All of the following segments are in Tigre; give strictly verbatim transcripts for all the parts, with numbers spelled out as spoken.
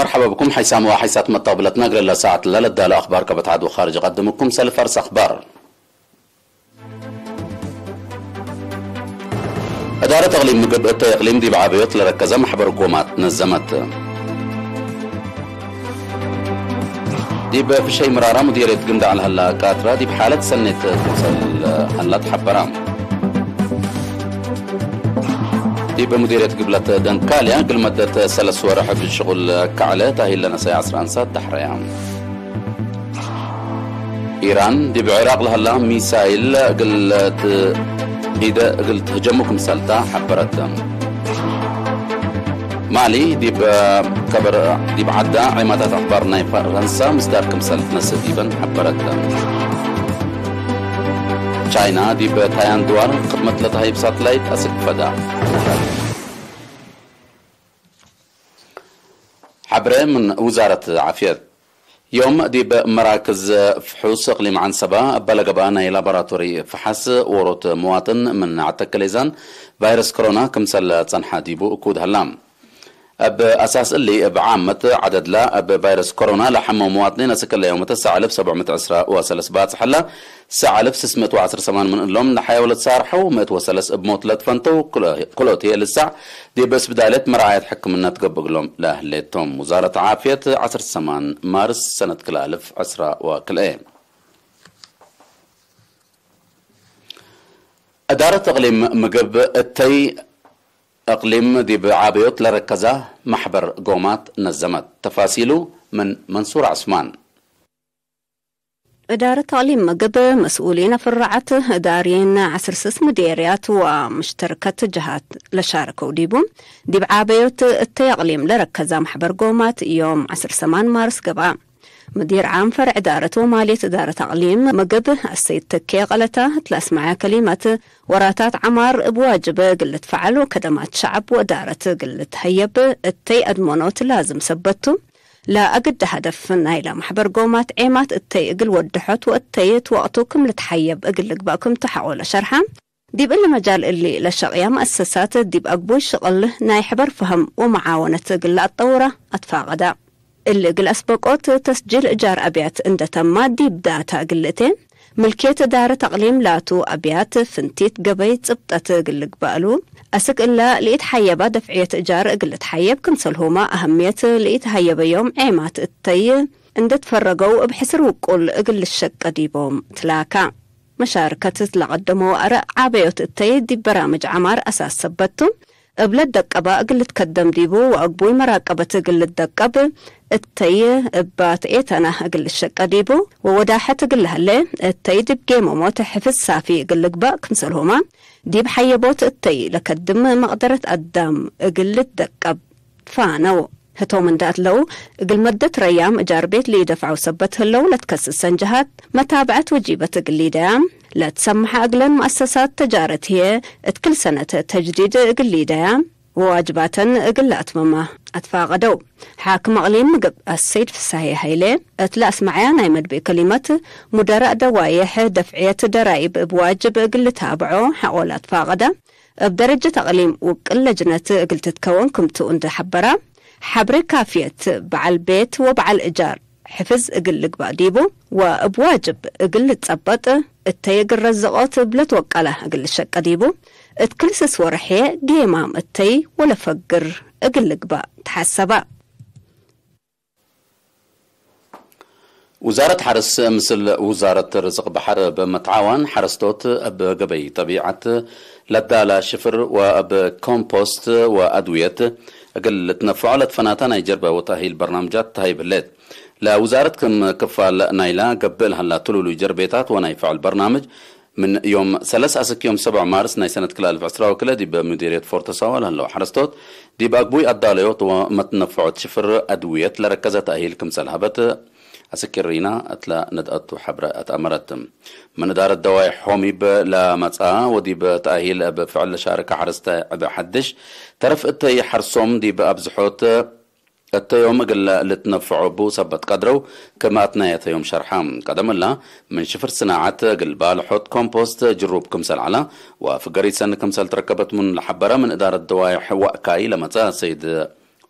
መርሐበ ብኩም ሓይሳም ወሓይሳት መተቅብለትና፣ እግለ ለሰዓት ለለዳሉ አኽባር ከበትዓድ ወኻርጅ እቀድምኩም ሰልፍ አርስ አኽባር። እዳረት እቅሊም ምግብ እተ እቅሊም ዲብ ዓበዮት ለረከዘ መሕበር ጎማት ነዘመት። ዲብ ፍሸይ ምራራ ሙዲርየት ግንዳዕ ለሀላ ቃትራ ዲብ ሓለት ሰኔት ክምሰል ሀላ ተሐበራ። ዲብ ሙዲርየት ግብለት ደንካልያ እግል መደት ሰለስ ወርሕ እብ ሽቁል ከዐለ ታሂል ለነሰየ ዐስር አንሳት ዳሕረያ። ኢራን ዲብ ዒራቅ ለሀላ ሚሳይል እግል ት-፣ ኢደ እግል ትህጀሙ ክምሰልታ ሐበረት። ማሊ ዲብ ከበር ዲብ ዐዳ ዔማታት አኽባር ናይ ፈረንሳ ምስዳር ክምሰል ትነስእ ዲበን ሐበረት። ቻይና ዲብ ታያን ድዋር ክድመት ለተሀይብ ሳትላይት አስክ ፈዳ። ሐብሬ ምን ውዛረት ዓፍየት። ዮም ዲብ መራክዝ ፍሑስ እቅሊም ዐንሰባ እበ ለገብአ ናይ ላቦራቶሪ ፈሐስ ዎሮት መዋጥን ምን ዐተክ ሌዛን ቫይረስ ኮሮና ክምሰል ጸንሐ ዲቡ እኩድ ሀላ። እብ አሳስ እሊ፣ እብ ዓመት ዐደድላ እብ ቫይረስ ኮሮና ለሐመው መዋጥኒን አስክ እለ ዮመተ ሰዕ አልፍ ሰብዕ ምእት ዕስራ ወሰለስ ባጽሕ ሀላ። ሰዕ አልፍ ስስ ምእት ወዐስር ሰማን ምን እሎም ለሐየው ለትሳርሐው፣ ምእት ወሰለስ እብ ሞት ለትፈንተው፣ ክሎ-፣ ክልኦት ህዬ ልሳዕ ዲብ እስብዳልየት መርዓየት ሕክምነት ገብእ እግሎም ለህሌቶም። ውዛረት ዓፍየት ዐስር ሰማን ማርስ ሰነት ክልኤ አልፍ ዕስራ ወክልኤ። እዳረት እቅሊም ምግብ እተይ እቅሊም ዲብ ዓበዮት ለረከዛ መሕበር ጎማት ነዘመት። ተፋሲሉ ምን መንሱር ዐስማን። እዳረት ተዕሊም ምግብ መስኡሊን ፍራዓት እዳርየን ዐስር ስስ ምዴርያት ወምሽተርከት ጀሃት ለሻርከው ዲቡ፣ ዲብ ዓበዮት እተይ አቅሊም ለረከዛ መሕበር ጎማት ዮም ዐስር ሰማን ማርስ ገብአ። ምዲር ዓም ፈርዕ እዳረት ወማልየት እዳረት አቅሊም ምግብ አሰይድ ተኬ ቀለታ እት ለአስመዐ ከሊመት፣ ወራታት ዐማር እብ ዋጅብ እግል ልትፈዐል ወከደማት ሸዐብ ወእዳረት እግል ልትሀየብ እተይ አድመኖት ላዝም ሰበት ቱ። ለአግደ ሀደፍ ናይለ መሕበር ጎማት ዔማት እተይ እግል ወድሖት ወእተይ እት ወቅቱ ክም ልትሐየብ እግል ልግበእ ክምቱ ሐቆ ለሸርሐ። ዲብ እሊ መጃል እሊ ለሸቅያ መአሰሳት ዲብ አግቡይ ሽቅል ናይ ሕበር ፈህም ወመዓወነት እግል ለአጠውራ አትፋቀዳ። እሊ እግል አስበቆት ተስጂል እጃር አብያት እንደ ተማ ዲብ ዳታ እግል ልእቴ፣ ምልክየት እዳረት አቅሊም ላቱ አብያት ፍንቲት ገበይ ጽብጠት እግል ልግበእ እሉ። አስክ እለ ለኢትሐየባ ደፍዕየት እጃር እግል ልትሐየብ ክምሰልሁመ አህምየት ለኢትሀየበዮም ዔማት እተይ እንዴ ትፈረገው እብ ሕስር ውቁል እግል ልሸቀ ዲቦም ትላካ። መሻርከት ለቀደመው አረእ ዓበዮት እተይ ዲብ በራምጅ ዐማር አሳስ ሰበት ቱ። እብ ለትደቀበ እግል ልትከደም ዲቡ ወአግቡይ መራቀበት እግል ልትደቀብ እተይ እባ ተኤተና እግል ልሸቀ ዲቡ ወወዳሐት እግል ለሀሌ እተይ ዲብ ጌመሞት ሕፍዝ ሳፊ እግል ልግበእ ክምሰልሁመ ዲብ ሐየቦት እተይ ለከድም መቅደረት አዳም እግል ልትደቀብ ፋነው። ህቶም እንደ አትለው፣ እግል መደት ረያም እጃር ቤት ለኢደፍዐው ሰበት ህለው ለትከስሰን ጀሃት መታብዐት ወጂበት እግል ሊደያም፣ ለትሰመሐ እግለን መአሰሳት ተጃረት ህዬ እት ክል ሰነት ተጅዲድ እግል ሊደያም ወዋጅባተን እግል ለአትመማ አትፋቀደው። ሓክም አቅሊም ምግብ አሰይድ ፍሳሄ ሀይሌ እት ለአስመዐያ ናይ መድብእ ከሊመት፣ ሙደረእ ደዋዬሕ ደፍዕየት ደራይብ እብ ዋጅብ እግል ልታብዖ ሐቆ ለአትፋቀደ፣ እብ ደረጀት አቅሊም ውቅል ለጅነት እግል ትትከወን ክምቱ እንዴ ሐበራ፣ ሐብሬ ካፍየት በዐል ቤት ወበዐል እጃር ሕፍዝ እግል ልግባእ ዲቡ ወእብ ዋጅብ እግል ልትጸበጥ፣ እተይ እግል ረዝቆት እብ ለትወቀለ እግል ልሸቀ ዲቡ፣ እት ክል ስስ ወርሕ ጌማም እተይ ወለፈግር እግል ልግባእ ተሐሰበ። ውዛረት ሐርስ ምስል ውዛረት ርዝቅ በሐር በመትዓዋን ሐረስቶት እብ ገበይ ጠቢዐት ለዳላ ሽፍር ወእብ ኮምፖስት ወአድውየት እግል ልትነፈዖ ለትፈናተ ናይ ጀርበ ወተእሂል በርናምጃት ተሀይብ ህሌት። ለውዛረት ክም ክፋል ናይላ ገብእ ለሀላ ትሉሉይ ጀርቤታት ወናይ ፍዕል በርናምጅ፣ ምን ዮም ሰለስ አስክ ዮም ሰብዕ ማርስ ናይ ሰነት ክልኤ አልፍ ዕስራ ወክልኤ ዲብ ሙዲርየት ፎርቶ ሳዋ ለህለው ሐረስቶት፣ ዲብ አግቡይ አዳለዮት ወመትነፈዖት ሽፍር አድውየት ለረከዘ ተእሂል ክምሰል ሀበት አስክ ሪና እትለ ነድአቱ ሐብረ አትአመረት። ምን እዳረት ደዋይ ሖሚብ ለመጽአ ወዲብ ተእሂል እብ ፍዕል ለሻርከ ሐረስተ ዕበ ሐድሽ ተረፍ እተይ ሐርሶም ዲብ አብዝሖት እተ ዮም እግል ልትነፈዖ እቡ ሰበት ቀድረው፣ ክም አትናየተ ዮም ሸርሐ። ቀደም እላ፣ ምን ሽፍር ስናዐት እግል ባልሖት ኮምፖስት ጅሩብ ክምሰል ዐላ፣ ወፍገር ኢሰኒ ክምሰል ትረከበት ምኑ ለሐበረ ምን እዳረት ደዋይሕ ወእካይ ለመጽአ ሰይድ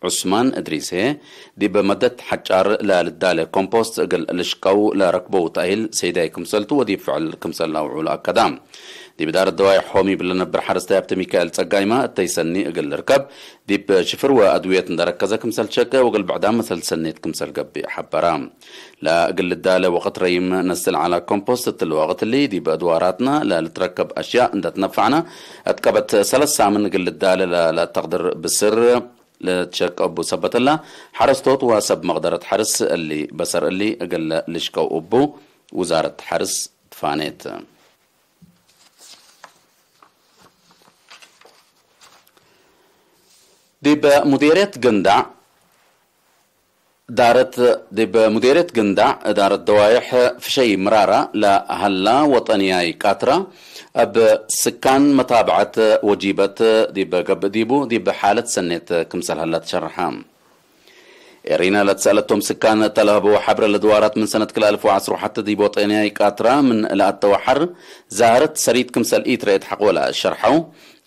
ዑስማን እድሪስ ህዬ፣ ዲብ መደት ሐጫር ለልዳለ ኮምፖስት እግል ልሽቀው ለረክበው ተእሂል ሰይዳይ ክምሰልቱ ወዲብ ፍዕል ክምሰል ለአውዑ ለአከዳ። ዲብ ዳር ደዋይሕ ሆም እብ ለነብር ሐረስታይ ሀብተ ሚካኤል ጸጋይማ እተይ ሰኒ እግል ልርከብ፣ ዲብ ሽፍር ወአድውየት እንደ ረከዘ ክምሰል ሸቄ ወእግል ብዕዳም መሰል ሰኔት ክምሰል ገብእ ሐበራ። ለእግል ልዳለ ወቅት ረይም ነስል ዐለ ኮምፖስት እትሊ ወቅት እሊ፣ ዲብ አድዋራትና ለልትረከብ አሽያእ እንደ ትነፈዕና፣ እት ቀበት ሰለስ ሳምን እግል ልዳለ ለለአተቅድር ብስር ልትሸቀ እቡ ሰበት እላ፣ ሐረስቶት ወሰብ መቅደረት ሐርስ እሊ በሰር እሊ እግል ልሽቀው እቡ ውዛረት ሐርስ ትፋኔት። ዲብ ሙዴርየት ግንዳዕ ዳረት፣ ዲብ ሙዴርየት ግንዳዕ እዳረት ደዋይሕ ፍሸይ ምራራ ለሀላ ወጠንያይ ቃትራ፣ እብ ስካን መታብዐት ወጂበት ዲብ ገብእ ዲቡ፣ ዲብ ሓለት ሰኔት ክምሰል ሀላ ትሸርሐ። ኤሪና ለትሰአለቶም ስካን እተ ለሀበው ሐብረ ለድዋራት ምን ሰነት ክልኤ አልፍ ወዐስር ወሐቴ ዲብ ወጠንያይ ቃትራ ምን ለአተወ ሐር ዛህረት ሰሪት ክምሰል ኢትረኤት ሐቆለ ሸርሐው፣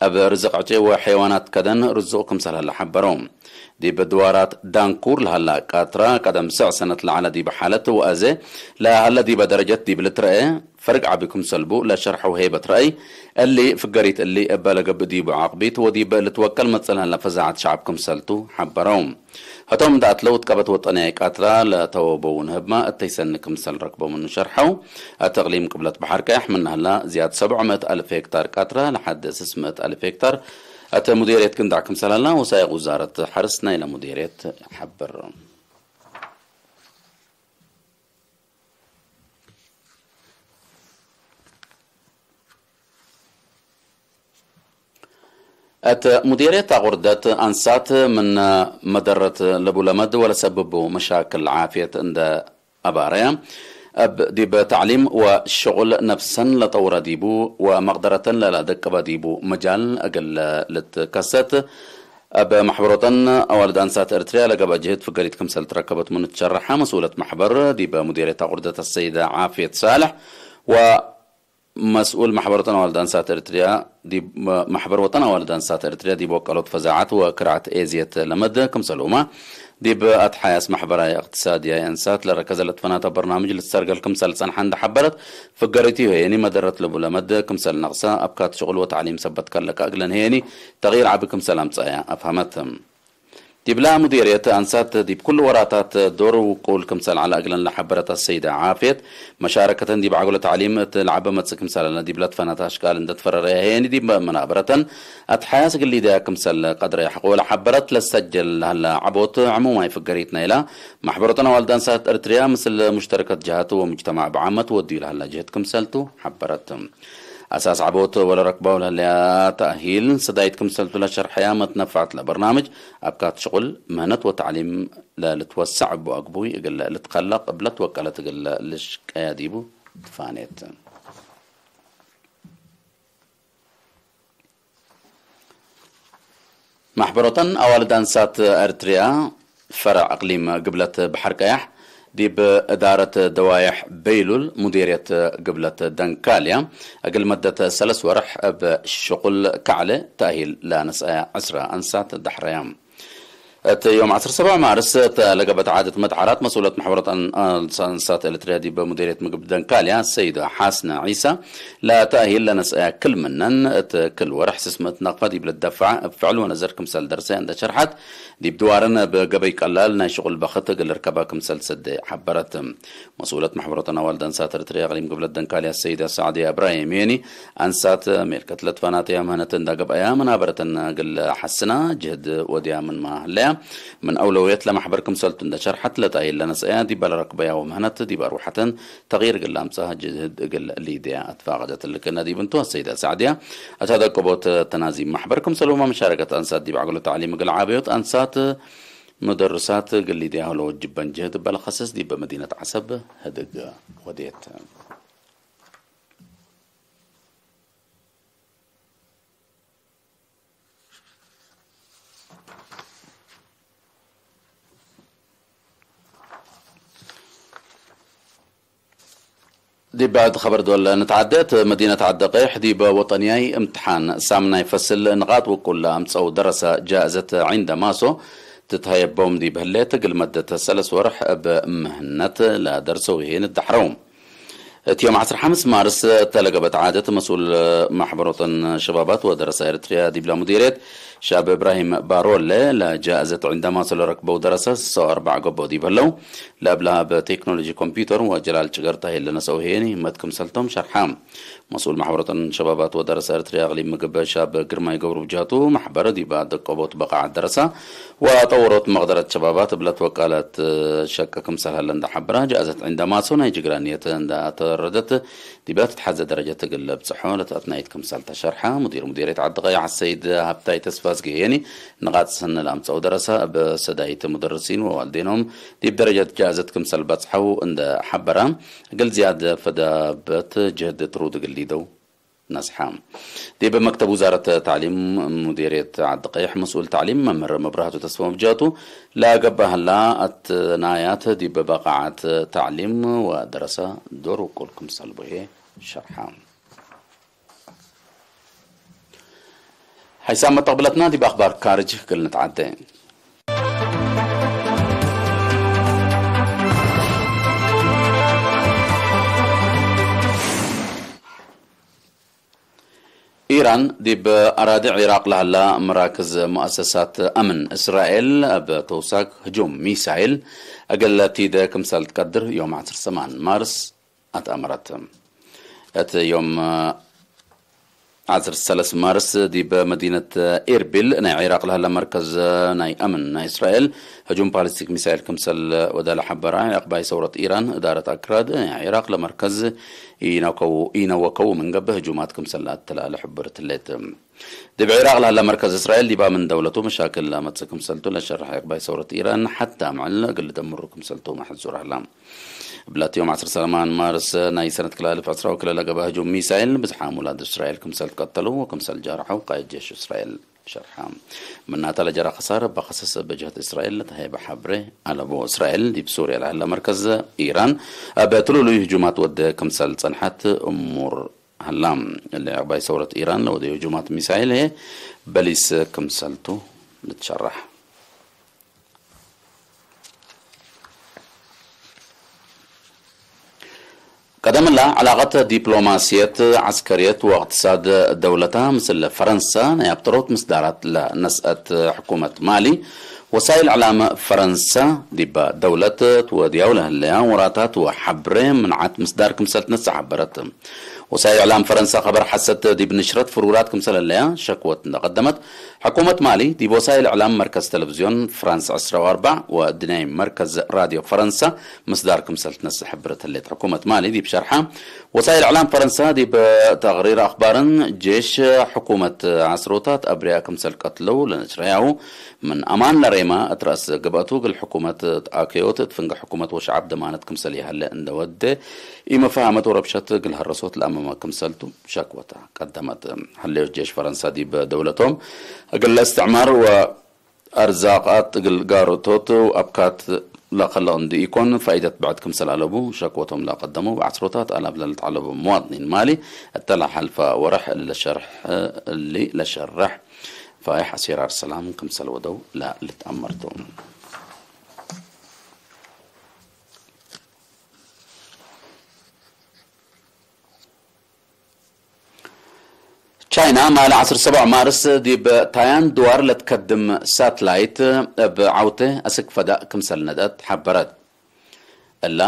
እብ ርዝቅ ዕጬ ወሐይዋናት ከደን ርዙቅ ክምሰል ሀለ ሐበረው። ዲብ ድዋራት ዳንኩር ለሀላ ቃትራ ቀደም ስዕ ሰነት ለዐለ ዲብ ሓለት ወአዜ ለሀለ ዲበ ደረጀት ዲብ ልትረኤ ፈርግ ዐቢ ክምሰል ቡ ለሸርሐው ሄበት ረአይ፣ እሊ ፍገሪት እሊ እበ ለገብእ ዲቡ ዓቅቢት ወዲብ ልትወቀል መጽእ ለሀለ ፈዛዐት ሸዐብ ክምሰልቱ ሐበረው። ህቶም እንደ አትለው እት ቀበት ወጠንያይ ቃትራ ለተወበው ንህብማ እተይ ሰኒ ክምሰል ረክበው ምኑ ሸርሐው። እት እቅሊም ቅብለት በሐር ቀያሕ ምን ሀላ ዝያድ ሰብዕ ምእት አልፍ ሄክታር ቃትራ ለሐድ ስስ ምእት አልፍ ሄክታር እት ሙዴርየት ግንዳዕ ክምሰል ሀላ ወሳይቅ ውዛረት ሐርስ ናይለ ሙዴርየት ሐብር። እት ሙዴርየት አቁርደት አንሳት ምን መደረት ለቡ ለመድ ወለሰብቡ መሻክል ዓፍየት እንደ አባረየ፣ እብ ዲብ ተዕሊም ወሽቁል ነፍሰን ለጠውረ ዲቡ ወመቅደረተን ለለደቅበ ዲቡ መጃል እግል ልትከሰት፣ እብ መሕበር ወጠን አዋልድ አንሳት ኤርትርያ ለገብአ ጅህድ ፍገሪት ክምሰል ትረከበት ምኑ ትሸረሐ። መስኡለት መሕበር ዲብ ሙዴርየት አቁርደት አሰይደ ዓፍየት ሳልሕ ወ መስኡል መሕበር ወጠን አዋልድ አንሳት ኤርትርያ ዲብ፣ መሕበር ወጠን አዋልድ አንሳት ኤርትርያ ዲብ ወቀሎት ፈዛዐት ወክርዐት ኤዝየት ለመድ ክምሰልሁመ፣ ዲብ አትሓያስ መሕበራይ እቅትሳድያይ አንሳት ለረከዘ ለትፈናተ በርናምጅ ልትሰርገል ክምሰል ጸንሐ እንደ ሐበረት፣ ፍገሪቱ ህዬኒ መደረት ለቡ ለመድ ክምሰል ነቅሰ፣ አብካት ሽቁል ወተዕሊም ሰበት ከለቀ እግለን ህዬኒ ተግይር ዐቢ ክምሰል አምጸአያ አፍሀመት። ዲብላ ሙዴርየት አንሳት ዲብ ኩሉ ወራታት ዶር ውቁል ክምሰል ዐለ እግለን ለሐበረት አሰይደ ዓፍየት፣ መሻረከተን ዲብ ዐግሎ ተዕሊም እት ለዐበ መጽእ ክምሰል ዐለ ዲብለ ትፈናተ አሽቃል እንደ ትፈረረየ ህዬኒ ዲብ መናበረተን አትሓያስ እግል ሊደያ ክምሰል ቀድረየ ሐቆለ ሐበረት። ለሰጀል ለሀለ ዐቦት ዕሙማይ ፍገሪት ናይላ መሕበር ወጠን አዋልድ አንሳት ኤርትርያ ምስል ሙሽተረከት ጀሃት ወሙጅተማዕ ብዓመት ወድዩ ለሀለ ጅህድ ክምሰልቱ ሐበረት። አሳስ ዐቦት ወለረክባው ለህለያ ተእሂል ሰዳይት ክምሰልቱ ለሸርሐያ መትነፋዕት ለበርናምጅ አብካት ሽቁል፣ ምህነት ወተዕሊም ለልትወሰዕ እቡ አግቡይ እግል ልትከለቅ እብ ለትወቀለት እግል ልሽቀያ ዲቡ ትፋኔት። መሕበር ወጠን አዋልድ አንሳት ኤርትርያ ፈረዕ እቅሊም ግብለት በሐር ቀያሕ፣ ዲብ እዳረት ደዋይሕ በይሉል ሙዴርየት ግብለት ደንካልያ፣ እግል መደት ሰለስ ወርሕ እብ ሽቁል ከዕለ ተእሂል ለነስአያ ዕስረ አንሳት ደሕረያ። እት ዮም ዐስር ሰብዕ ማርስ እተ ለገብአት ዓደት መትዓራት መስኡለት መሕበረት አን-፣ አንሳት ኤርትርያ ዲብ ሙዴርየት ምግብ ደንካልያ ሰይዶ ሐስነ ዒሳ፣ ለተእሂል ለነስአያ ክል ምነን እት ክል ወርሕ ስስ ምእት ነቅፈ ዲብ ልትደፈዐ እብ ፍዕል ወነዘር ክምሰል ደርሰ እንደ ሸርሐት፣ ዲብ ድዋርን እብ ገበይ ቀላል ናይ ሽቁል በክት እግል ልርከበ ክምሰል ሰዴ ሐበረት። መስኡለት መሕበሮተን አዋልድ አንሳት ኤረትርያ እቅሊም ግብለት ደንካልያ ሰይደ ሳዕድያ እብራሂም ሄኒ፣ አንሳት ሜልከት ለትፈናተያ ምህነት እንዳ ገብአያ፣ መናበረተን እግል ሐስና ጅህድ ወድያ ምንመ ህለያ፣ ምን አውለውየት ለመሕበር ክምሰልቱ እንደ ሸርሐት፣ ለጣይል ለነስአያ ዲበ ለረክበያሁ ምህነት ዲብ አርወሐተን ተግይር እግል ለአምጽአ ጅህድ እግል ሊድያ አትፋቀደት። እሊ ክእነ ዲብ እንቱ፣ አሰይደ ሳዕድያ እት አደቅቦት ተናዚም መሕበር ክምሰልሁመ መሻረከት አንሳት ዲብ ዐግሎ ተዕሊም እግል ዓበዮት አንሳት ሙደርሳት እግል ሊድያሁ ለወጅበን ጅህድ እበ ለከስስ ዲብ መዲነት ዐሰብ ህድግ ወዴት። ዲብ ብዕድ ኸበር ዶል ንትዓደት፣ መዲነት ዐዲ ቀይሕ ዲብ ወጠንያይ እምትሓን ሳምናይ ፈስል ንቃጥ ውቁል ለአምጸው ደረሰ ጃእዘት ዒንደ ማሶ ትትሀየቦም ዲብ ህሌት፣ እግል መደት ሰለስ ወርሕ እብ ምህነት ለደርሰው ህዬ ንትደሐረው። እት ዮም ዐስር ሐምስ ማርስ እተ ለገብአት ዓደት፣ መስኡል ማሕበር ወጠን ሸባባት ወደረሳ ኤረትርያ ዲብላ ሙዲርየት ሻብ እብራሂም ባሮለ፣ ለጃእዘት ዒንዳማሶ ለረክበው ደረሳ ስሳ ወአርበዕ ገብኦ ዲብ ህለው፣ ለእብለሃ እብ ቴክኖሎጂ ኮምፒውተር ወጀላል ጭገርታ ህዬ ለነሰአው ህዬ ንህመት ክምሰልቶም ሸርሐ። መስኡል ማሕበር ወጠን ሸባባት ወደረሳ ኤረትርያ እቅሊም ምግብ ሻብ ግርማይ ገብሩ ብጃቱ፣ ማሕበር ዲብ አደቀቦት በቃዐት ደረሳ ወጠወሮት መቅደረት ሸባባት እብ ለትወቀለት ሸቂ ክምሰል ሀለ እንደ ሐበራ፣ ጃእዘት ዒንዳማሶ ናይ ጅግራ ንየት እንደ አተረደት፣ ዲብላ ትትሐዜ ደረጀት እግል ለብጽሖ ለተአትናይት ክምሰል ተሸርሐ። ሙዲር ሙዲርየት ዐዲ ቀይሕ አሰይድ ሀብታይ ተስፋዝጊ ህዬኒ፣ ንቃጥ ሰኒ ለአምጸአው ደረሳ እብ ሰዳይት ሙደርሲን ወዋልዴኖም ዲብ ደረጀት ጃእዘት ክምሰል በጽሐው እንደ ሐበራ፣ እግል ዝያድ ፈዳበት ጅህድ ትሩድ እግል ሊደው ነስሐ። ዲብ መክተብ ውዛረት ተዕሊም ሙዲርየት ዐዲ ቀይሕ መስኡል ተዕሊም መምህር መብራህቱ ተስፋ መብጃቱ፣ ለገብአ ህላ አትናያት ዲብ በቃዐት ተዕሊም ወደረሳ ዶር ውቁል ክምሰል ቡ ህዬ ሸርሐ። ሐይሳም መተቅብለትና ዲብ አክባር ካርጅ እግል ንትዓዴ። ኢራን ዲብ አራዲ ዒራቅ ለሀላ መራክዝ ሙአሰሳት አምን እስራኤል እብ ተውሳክ ህጁም ሚሳይል እግል ቲደ ክምሰል ትቀድር ዮም ዐስር ሰማን ማርስ አትአመረት። እት ዮም ዐስር ሰለስ ማርስ ዲብ መዲነት ኤርቢል ናይ ዒራቅ ለሀለ መርከዝ ናይ አምን ናይ እስራኤል ህጁም ባሊስቲክ ሚሳይል ክምሰል ወደ ለሐበራ፣ የአቅባይ ሰውረት ኢራን እዳረት አክራድ ናይ ዒራቅ ለመርከዝ ኢነወከው፣ ኢነወከው ምን ገብእ ህጁማት ክምሰል ለአተላለ ሕብርት ህሌት። ዲብ ዒራቅ ለሀለ መርከዝ እስራኤል ዲብ አምን ደውለቱ መሻክል ለአመጽእ ክምሰልቱ ለሸርሐ የአቅባይ ሰውረት ኢራን፣ ሐታ ምዕል እግል ልደምሩ ክምሰልቱ መሕዙር ሀላ። እብላት ዮም ዐስር ሰማን ማርስ ናይ ሰነት ክልኤ አልፍ ዕስራ ወክልኤ ለገብአ ህጁም ሚሳይል ብዝሓም ውላድ እስራኤል ክምሰል ትቀተሉ ወክምሰል ጃርሐው ቃይድ ጄሽ እስራኤል ሸርሐ። ምናተ ለጀረ ከሳር እበ ከሰስ እብ ጀህት እስራኤል ለተሀይበ ሐብሬ አለቡ። እስራኤል ዲብ ሱርየ ለሀለ መርከዝ ኢራን እብ ትሉሉይ ህጁማት ወደ ክምሰል ጸንሐት እሙር ሀላ። እሊ አቅባይ ሰውረት ኢራን ለወደዩ ህጁማት ሚሳይል ህዬ በሊስ ክምሰልቱ ልትሸረሕ። ቀደምላ፣ ዕላቀት ዲፕሎማስየት፣ ዐስከርየት ወእቅትሳድ ደውለታ ምስል ፈረንሰ ናይ አብጠሮት ምስዳራት ለነስአት ሕኩመት ማሊ፣ ወሳይል እዕላም ፈረንሰ ዲበ ደውለት ትወድያው ለህለያ ወራታት ወሐብሬ ምንዓት ምስዳር ክምሰል ትነሰእ ሐበረት። ወሳይል እዕላም ፈረንሰ ከበር ሐሰት ዲብ ንሽረት ፍሩራት ክምሰል ህለያ ሸክወት እንደ ቀደመት፣ ሕኩመት ማሊ ዲብ ወሳይል እዕላም መርከዝ ተለቪዝዮን ፍራንስ ዕስራ ወአርበዕ ወእድንያይ መርከዝ ራድዮ ፈረንሰ ምስዳር ክምሰል ትነስእ ሕብረት ህሌት። ሕኩመት ማሊ ዲብ ሸርሓ፣ ወሳይል እዕላም ፈረንሰ ዲብ ተቅሪር አክባርን ጄሽ ሕኩመት ዐስሮታት አብርያ ክምሰል ቀትለው ለነሽረያሁ ምን አማን ለሬማ እት ረአስ ገብአቱ እግል ሕኩመት ተአከዮት እት ፍንጌ ሕኩመት ወሸዐብ ደማነት ክምሰል ይሀለ እንደ ወዴ ኢመፋሀመት ወረብሸት እግል ሀረሶት ለአመመ ክምሰልቱ ሸክወተ ቀደመት። ሀለዮት ጄሽ ፈረንሰ ዲብ ደውለቶም እግል ለእስትዕማር ወአርዛቃት እግል ጋሮቶት ወአብካት ለከልቅ እንዲ ኢኮን ፋኢደት ብዕድ ክምሰል አለቡ ሸክወቶም ለቀደሙ። በዐስሮታት አላፍ ለልትዐለቡ መዋጥኒን ማሊ እተ ለሐልፈ ወርሕ እሊ ለሸርሕ፣ እሊ ለሸርሕ ፋይሕ አሴራር ሰላም ክምሰል ወደው ለልትአመርቱ። ቻይና ማለ ዐስር ሰብዕ ማርስ ዲብ ታያን ድዋር ለትከድም ሳትላይት እብ ዐውቴ አስክ ፈዳእ ክምሰል ነድአት ሐበረት። እላ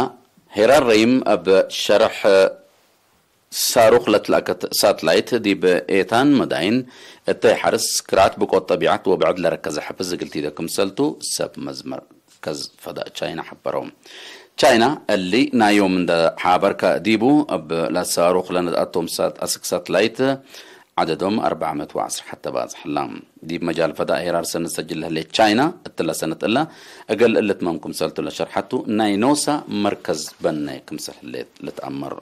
ሄራር ረይም እብ ሸርሕ ሳሩክ ለትለአከት ሳትላይት ዲብ ኤታን መዳይን እተይ ሐርስ ክርአት ብቆት ጠቢዐት ወብዕድ ለረከዘ ሐፍዝ እግል ቲደ ክምሰልቱ ሰብ መዝመር ከዝ ፈዳእ ቻይና ሐበረው። ቻይና እሊ ናይ ዮም እንደ ሐበርከ ዲቡ፣ እብ ለሳሩክ ለነድአቶም ሳት አስክ ሳትላይት ዐደዶም አርበዕ ምእት ወዐስር ሐተ ባጽሕ ህላ። ዲብ መጃል ፈዳእ ሄራር ሰነት ሰጅል ለህሌት ቻይና፣ እትለ ሰነት እለ እግል እልትመም ክምሰልቱ ለሸርሐቱ፣ ናይ ኖሳ መርከዝ በነ ክምሰል ህሌት ልትአመር።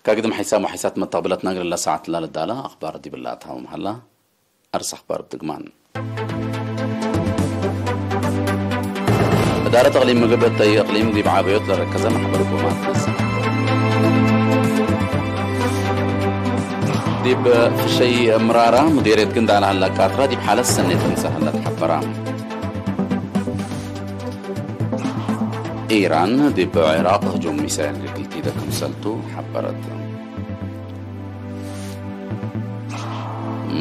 ከግድም ሐይሳም ወሐይሳት መተቅብለትና እግል ለሳዐት ላልዳለ አክባር ዲብላ አትሃውም ሀላ። አርስ አክባር እብ ድግማን። እዳረት እቅሊም ምግብ እተይ እቅሊም ዲብ ዓበዮት ለረከዘ ማሕበር ቁማት ነስእ። ዲብ ፍሸይ ምራራ፣ ሙዴርየት ግንዳዕ ለሀላ ቃትራ ዲብ ሓለት ሰኔት እንሰ ሀለት ሐበራ። ኢራን ዲብ ዒራቅ ህጁም ሚሳይል እግል ቲደ ክምሰልቱ ሐበረት።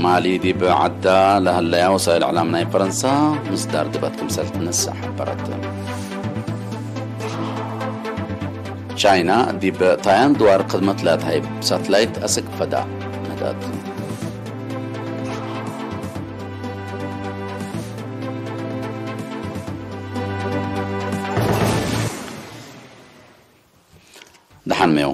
ማሊ ዲብ ዐዳ ለሀለያ ወሳይል እዕላም ናይ ፈረንሳ ምስዳር ድበት ክምሰል ትነሰእ ሐበረት። ቻይና ዲብ ታያን ድዋር ክድመት ለትሀይብ ሳትላይት አስክ ፈዳ መዳት። ደሓን ሜው።